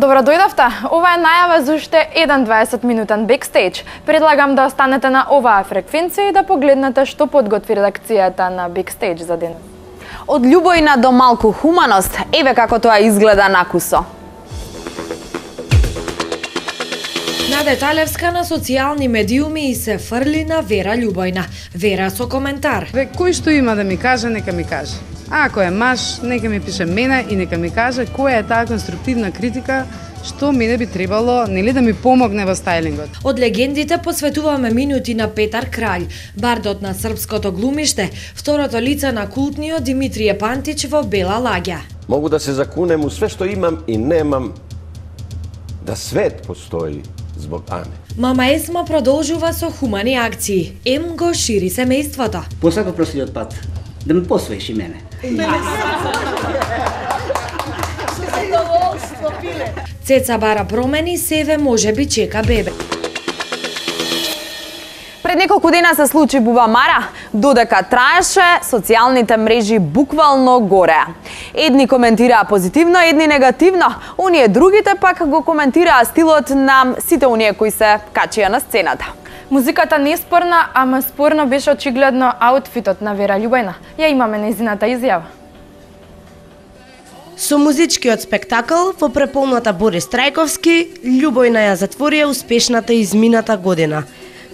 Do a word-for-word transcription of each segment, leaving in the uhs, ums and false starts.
Добро дојдовте. Ова е најава за уште еден дваесет минутен бекстејдж. Предлагам да останете на оваа фреквенција и да погледнете што подготви редакцијата на бекстејдж за денес. Од љубојна до малку хуманост, еве како тоа изгледа накусо. Наде Талевска на социјални медиуми и се фрли на Вера Љубојна. Вера со коментар. Ве, кој што има да ми каже, нека ми каже. А ако е маж, нека ми пише мене и нека ми каже која е таа конструктивна критика што мене би требало, нели, да ми помогне во стајлингот. Од легендите посветуваме минути на Петар Краљ, бардот на српското глумиште, второто лице на култниот Димитрije Пантич во Бела лагја. Могу да се закунем у све што имам и немам, да свет постои због Ане. Мама Есма продолжува со хумани акции. Ем го шири семејството. Посакав проследниот пат да ме посвоиш и мене. Цеца бара промени, Севе може би чека бебе. Пред неколку дена се случи бубамара, додека траеше, социјалните мрежи буквално гореа. Едни коментираа позитивно, едни негативно, оние другите пак го коментираа стилот на сите оние кои се качија на сцената. Музиката не е спорна, ама спорно беше очигледно аутфитот на Вера Љубојна. Ја имаме нејзината изјава. Со музичкиот спектакл во преполната Борис Трајковски, Љубојна ја затворија успешната измината година.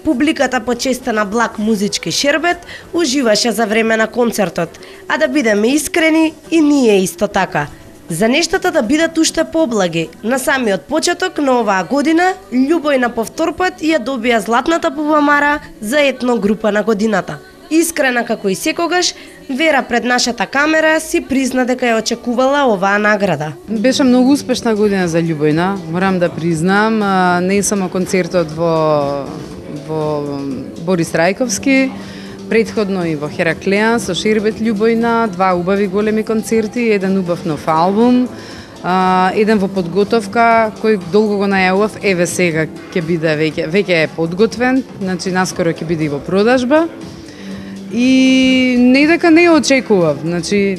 Публиката почестена благ музички шербет уживаше за време на концертот, а да бидеме искрени и ние исто така. За нештата да бидат уште поблаги, на самиот почеток на оваа година, Љубојна по втор пат ја добија златната бубамара за етно група на годината. Искрена како и секогаш, Вера пред нашата камера си призна дека ја очекувала оваа награда. Беше многу успешна година за Љубојна, морам да признам, не само концертот во во Борис Трајковски, претходно и во Хераклеан со Шербет Љубојна, два убави големи концерти, еден убав нов албум, а, еден во подготовка кој долго го најавував, еве сега ќе биде веќе веќе е подготвен, значи наскоро ќе биде и во продажба. И не дека не очекував, значи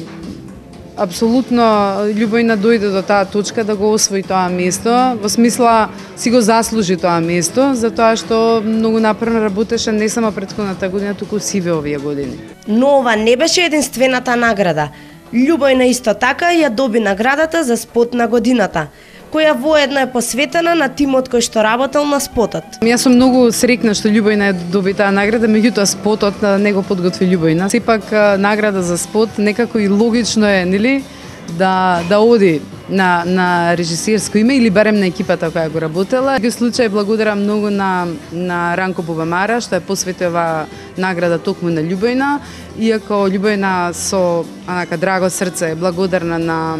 апсолутно Љубојна дојде до таа точка да го освои тоа место, во смисла си го заслужи тоа место, затоа што многу напорно работеше не само претходната година, туку сиве овие години. Но ова не беше единствената награда. Љубојна исто така ја доби наградата за спот на годината, која воедно е посветена на тимот кој што работел на спотот. Јас сум многу среќна што Љубојна доби таа награда, меѓутоа спотот не го подготви Љубојна. Сепак награда за спот некако и логично е, нели, да да оди на на режисерско име или барем на екипата која го работела. Во случај благодарам многу на на Ранко Бубамара што е посветила награда токму на Љубојна, иако Љубојна со онака драго срце е благодарна на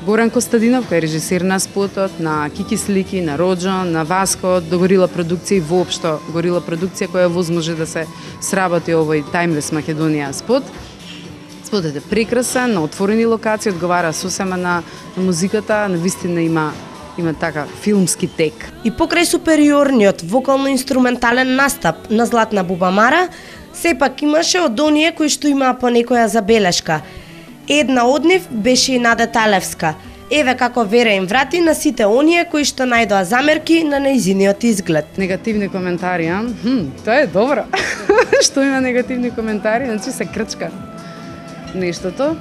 Горан Костадинов, кој е режисер на спотот, на Кики Слики, на Роджо, на Васко, до Горила продукција и воопшто Горила продукција која возможи да се сработи овој Timeless Македонија спот. Спотот е прекрасен, на отворени локации, одговара сосема на, на музиката, на вистина има има така филмски тек. И покрај супериорниот вокално-инструментален настап на Златна бубамара, сепак имаше од оние кои што имаа по некоја забелешка. Една од нив беше и Наде Талевска. Еве како Вера им врати на сите оние кои што најдоа замерки на нејзиниот изглед. Негативни коментари, а? Хм, тоа е добро. Што има негативни коментари, значи се крчка нештото.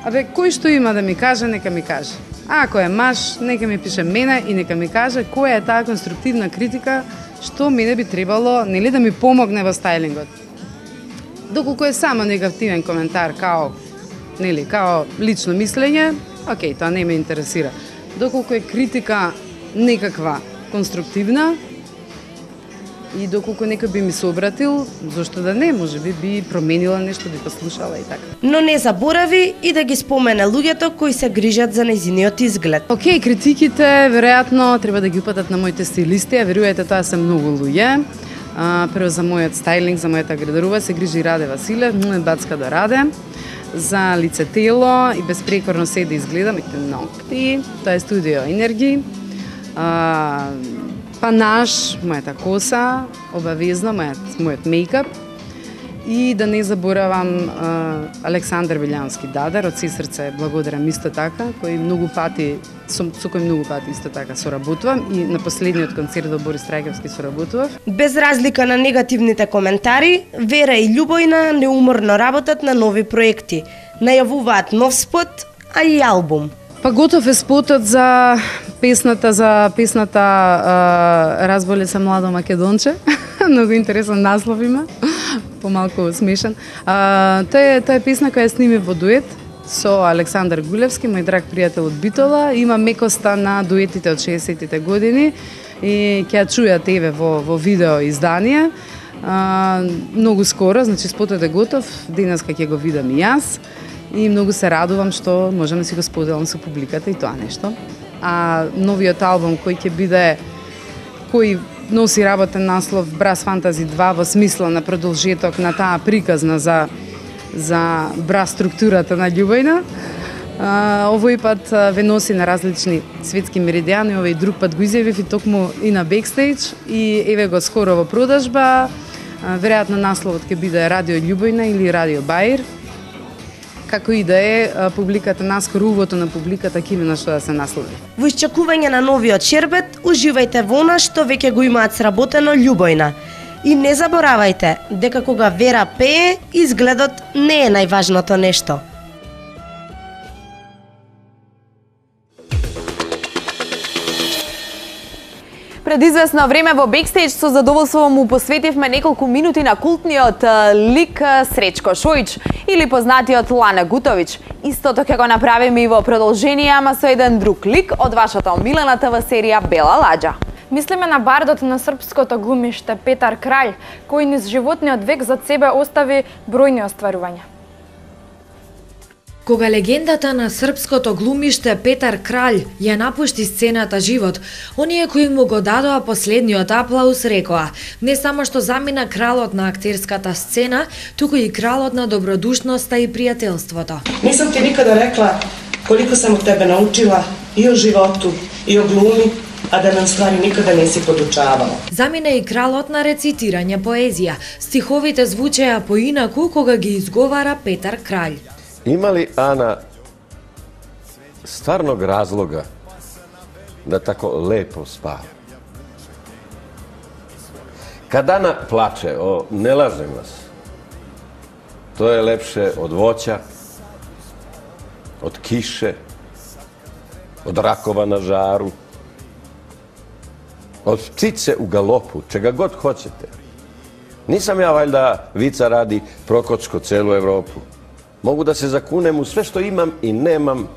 Абе, кој што има да ми каже, нека ми каже. А ако е маж, нека ми пише мене и нека ми каже која е таа конструктивна критика што мене би требало, нели, да ми помогне во стајлингот. Доколку е само негативен коментар, као нели, као лично мислење, окей, тоа не ме интересира. Доколку е критика некаква конструктивна и доколку некој би ми се обратил, зошто да не, може би би променила нешто, би послушала и така. Но не заборави и да ги спомене луѓето кои се грижат за нејзиниот изглед. Окей, критиките веројатно треба да ги упатат на моите стилисти, а верувајте, тоа се многу луѓе. А, прво за мојот стајлинг, за мојата градерува се грижи Раде Василев, мој бацка до Раде. За лице тело и безпрекорно се да изгледам, моите ногти, тоа е студио Енерги. А, панаш, мојата коса, обавезно, мојот, мојот мејкап. И да не заборавам Александар Вилјански Дадар, од се срце благодарам исто така, кој многу пати, со, со кој многу пати исто така соработувам и на последниот концерт во Борис Трајковски соработував. Без разлика на негативните коментари, Вера и Љубојна неуморно работат на нови проекти. Најавуваат нов спот, а и албум. Па готов е спотот за песната за песната а, Разболе се младо Македонче. Многу интересен наслов има. Помалку смешен. А, тоа е тоа е песна која сними во дует со Александар Гулевски, мој драг пријател од Битола. Има мекоста на дуетите од шеесеттите години и ќе ја чујат еве во во видео издание. А, многу скоро, значи спотот е готов, денеска ќе го видам и јас. И многу се радувам што можам да си го споделам со публиката и тоа нешто. А новиот албум кој ќе биде, кој носи работен наслов Брас Фантази два во смисла на продолжеток на таа приказна за за брас структурата на Љубојна. А, овој пат ве носи на различни светски меридијани, овој друг пат го изјавив и токму и на бекстејдж и еве го скоро во продажба. А, веројатно насловот ќе биде Радио Љубојна или Радио Баир. Како и да е, публиката, наскоро увото на публиката ќе има на што да се наслови. Во исчекување на новиот шербет, уживајте во она што веќе го имаат сработено Љубојна. И не заборавајте дека кога Вера пее, изгледот не е најважното нешто. Пред известно време во бекстејдж со задоволство му посветивме неколку минути на култниот лик Сречко Шојич или познатиот Лане Гутовиќ. Истото ќе го направиме и во продолжение, ама со еден друг лик од вашата омилена ТВ серија Бела ладжа. Мислиме на бардот на српското глумиште Петар Краљ, кој низ животниот век зад себе остави бројни остварувања. Кога легендата на српското глумиште Петар Краљ ја напушти сцената живот, оние кои му го дадоа последниот аплауз рекоа: не само што замина кралот на актерската сцена, туку и кралот на добродушноста и пријателството. Не сам ти никада рекла колико сам од тебе научила и о животу, и о глуми, а да ме уствари никада не си подучавала. Замина и кралот на рецитирање поезија. Стиховите звучеа поинаку кога ги изговара Петар Краљ. Има ли Ана стварног разлога да тако лепо спава? Kad Ana plače, o, ne lažem vas, to je lepše od voća, od kiše, od rakova na žaru, od ptice u galopu, čega god hoćete. Nisam ja valjda vica radi Prokocko celu Evropu. Mogu da se zakunem u sve što imam i nemam,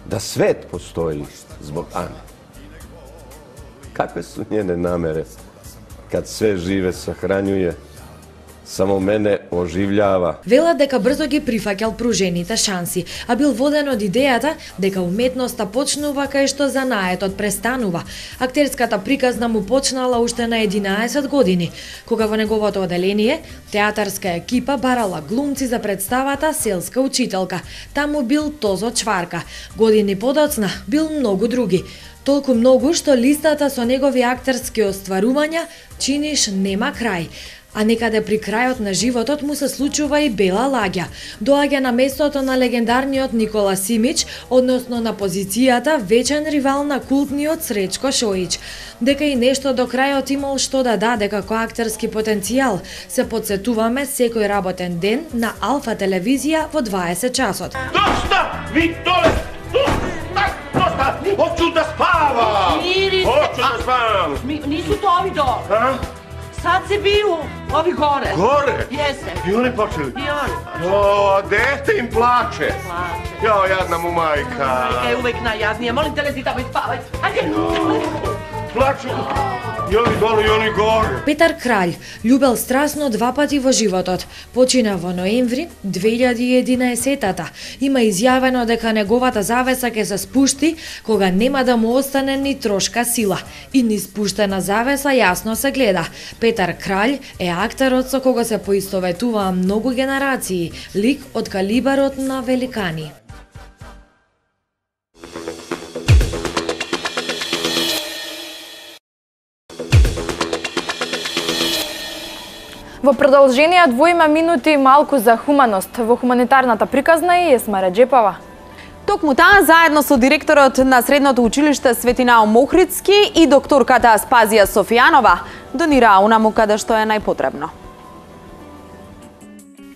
da svet postoji zbog Ane. Kakve su njene namere kad sve žive sahranjuje, само мене оживљава. Вела дека брзо ги прифаќал пружените шанси, а бил воден од идејата дека уметноста почнува кај што занаетот престанува. Актерската приказна му почнала уште на единаесет години, кога во неговото оделение театарска екипа барала глумци за представата Селска учителка. Таму бил Тозо Чварка. Години подоцна бил многу други. Толку многу што листата со негови актерски остварувања чиниш нема крај. А некаде при крајот на животот му се случува и Бела ладжа. Доаѓа на местото на легендарниот Никола Симич, односно на позицијата вечен ривал на култниот Сречко Шојич. Дека и нешто до крајот имал што да даде како актерски потенцијал, се подсетуваме секој работен ден на Алфа телевизија во дваесет часот. Доста! Ви доле! Доста! Hoću da spavam! Hoću da spavam! Nisu to ovi dole. Sad se biju ovi gore. Gore? Jeste. I oni počeli? I oni. O, dete im plače. Plače. Jao, jadna mu majka. Majka je uvek najjadnija. Molim te, lezi tamo i spavaj. Ajde. Plaču. I oni dole, i oni gore. Петар Краљ љубел страсно два пати во животот. Почина во ноември две илјади и единаесетата. Има изјавено дека неговата завеса ќе се спушти кога нема да му остане ни трошка сила. И ни спуштена завеса јасно се гледа. Петар Краљ е актерот со кога се поистоветуваа многу генерации, лик од калибарот на великани. Во продолжение двојма минути малку за хуманост во хуманитарната приказна е Есма Реджепова. Токму таа заедно со директорот на Средното училиште Светинаум Охридски и докторката Аспазија Софијанова донираа унаму каде што е најпотребно.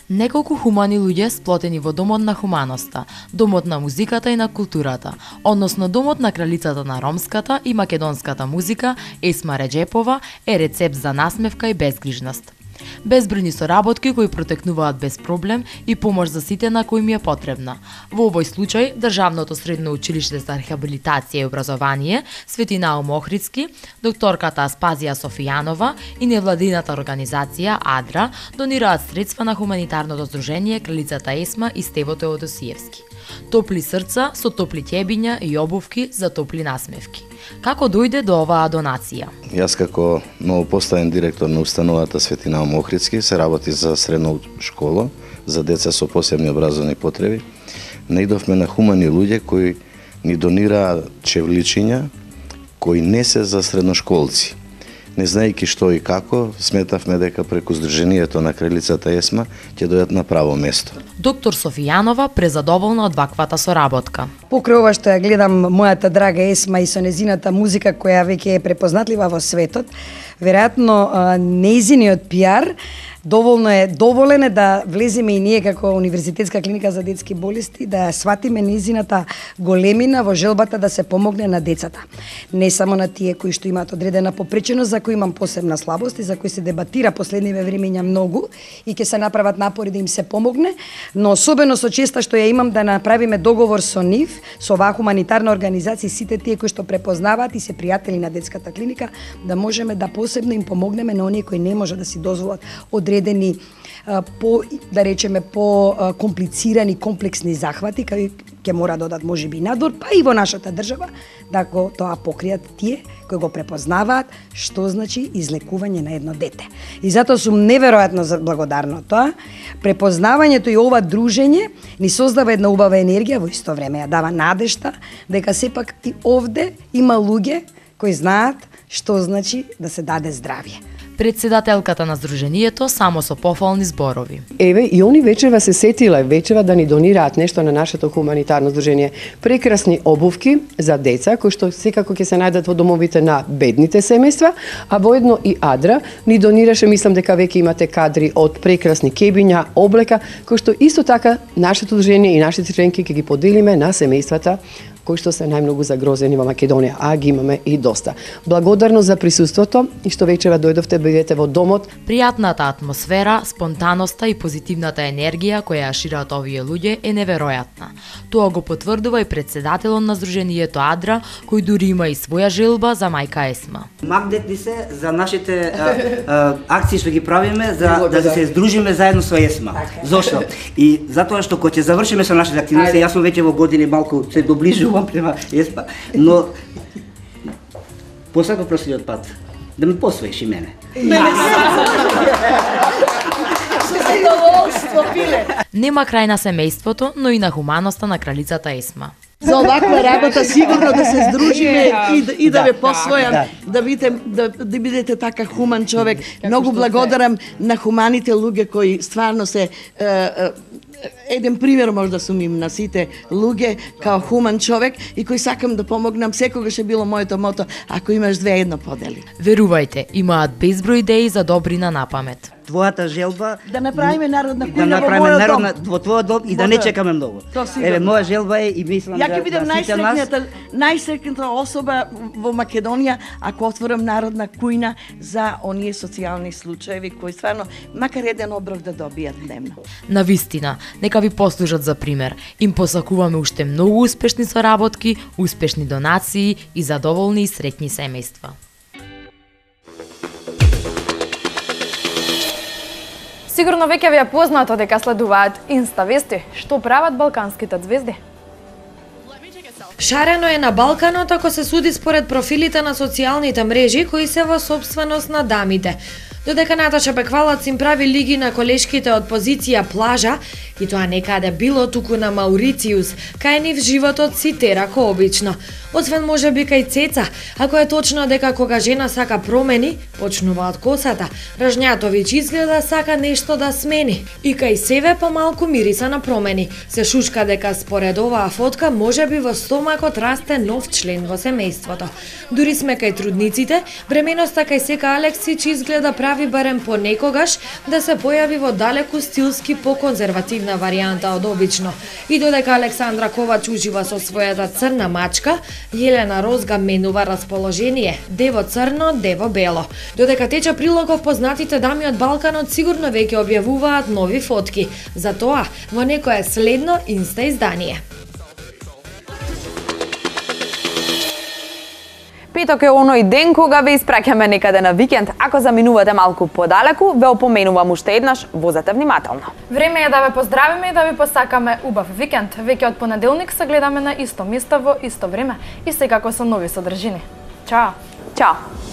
Неколку хумани луѓе сплотени во Домот на хуманоста, Домот на музиката и на културата, односно Домот на кралицата на ромската и македонската музика, Есма Реджепова, е рецепт за насмевка и безгрижност. Безбројни соработки кои протекнуваат без проблем и помош за сите на кои ми е потребна. Во овој случај, Државното средно училиште за рехабилитација и образование, Светинаум Охридски, докторката Аспазија Софијанова и невладината организација АДРА донираат средства на хуманитарното здружение Кралицата Есма и Стево Теодосиевски. Топли срца со топли ќебиња и обувки за топли насмевки. Како дојде до оваа донација? Јас како новопоставен директор на установата Светинаум Охридски се работи за средно школа, за деца со посебни образовни потреби. Наидовме на хумани луѓе кои ни донираа чевличиња кои не се за средношколци. Не знаејќи што и како, сметавме дека преку Сдруженијето на Кралицата Есма ќе дојдат на право место. Доктор Софијанова презадоволна од ваквата соработка. Покрај ова што ја гледам мојата драга Есма и со незината музика која веќе е препознатлива во светот, веројатно нејзиниот пиар доволно е доволен е да влеземе и ние како Универзитетска клиника за детски болести да сватиме нејзината големина во желбата да се помогне на децата. Не само на тие кои што имаат одредена попреченост, за кои имам посебна слабост и за кои се дебатира последниве времења многу и ќе се направат напори да им се помогне, но особено со честа што ја имам да направиме договор со нив, со оваа хуманитарна организација, сите тие кои што препознаваат и се пријатели на детската клиника, да можеме да посебно им помогнеме на оние кои не може да си дозволат одредени по, да речеме, по комплицирани, комплексни захвати, кај ќе мора да одат можеби надвор, па и во нашата држава, да го тоа покријат тие кои го препознаваат што значи излекување на едно дете. И затоа сум неверојатно благодарна тоа. Препознавањето и ова дружење ни создава една убава енергија, во исто време ја дава надежта дека сепак и овде има луѓе кои знаат што значи да се даде здравје. Председателката на Сдруженијето само со пофални зборови. Еве, и они вечерва се сетиле, вечерва да ни донираат нешто на нашето хуманитарно здружение. Прекрасни обувки за деца, кои што секако ќе се најдат во домовите на бедните семејства, а воедно и АДРА ни донираше, мислам дека веќе имате кадри од прекрасни кебиња, облека, кои што исто така нашето здружение и нашите членки ќе ги поделиме на семејствата кои што се најмногу загрозени во Македонија, а ги имаме и доста. Благодарно за присуството и што вечера дојдовте, бидете во домот. Пријатната атмосфера, спонтаноста и позитивната енергија која ја шират овие луѓе е неверојатна. Тоа го потврдува и председателот на Сдруженијето АДРА, кој дури има и своја желба за мајка Есма. Магнетни се за нашите а, а, акции што ги правиме, за да се здружиме заедно со Есма. Зошто? И затоа што кога ќе завршиме со нашите активности, јас сум веќе во години малку се доближувам према Есма, но посака проследниот пат да ме посвоиш и мене. Нема крај на семејството, но и на хуманоста на Кралицата Есма. За оваква работа сигурно да се здружиме и да, и да ве посвојам, да, да, бидете, да, да бидете така хуман човек. Многу благодарам на хуманите луѓе кои стварно се е, е, еден пример може да сум им на сите луѓе као хуман човек и кој сакам да помогнам. Секогаш е било моето мото, ако имаш две, едно подели. Верувајте, имаат безброј идеи за добрина на памет. Твојата желба да направиме народна кујна да во мојот дом. Во твојот дом и да не чекаме многу. Еве, моја желба е и мислам Ја ќе бидам да сите нас најсреќната најсреќната особа во Македонија ако отворам народна кујна за оние социјални случаеви кои стварно макар еден оброк да добијат дневно. На вистина, нека ви послужат за пример. Им посакуваме уште многу успешни соработки, успешни донации и задоволни и среќни семејства. Сигурно веќе ви е познато дека следуваат инста вести, што прават балканските звезди. Шарено е на Балканот ако се суди според профилите на социјалните мрежи кои се во сопственост на дамите. Додека Наташа Беквалац им прави лиги на колешките од позиција плажа, и тоа некаде било туку на Маурициус, кај нив животот си тера ко обично. Освен може би кај Цеца, ако е точно дека кога жена сака промени, почнува од косата, Ражњатовиќ изгледа сака нешто да смени. И кај себе помалку мириса на промени. Се шушка дека според оваа фотка може би во стомакот расте нов член во семејството. Дури сме кај трудниците, бременоста кај Сека Алексич изгледа прави барем понекогаш да се појави во далеку стилски поконзервативна варијанта од обично. И додека Александра Ковач ужива со својата црна мачка, Јелена Розга менува расположение, дево црно, дево бело. Додека тече прилогов, познатите дами од Балканот сигурно веќе објавуваат нови фотки. За тоа во некое следно инста издание. Петок е оној ден кога ве испраќаме некаде на викенд. Ако заминувате малку подалеку, ве опоменувам уште еднаш, возете внимателно. Време е да ве поздравиме и да ви посакаме убав викенд. Веќе од понеделник се гледаме на исто место во исто време и секако со нови содржини. Чао! Чао!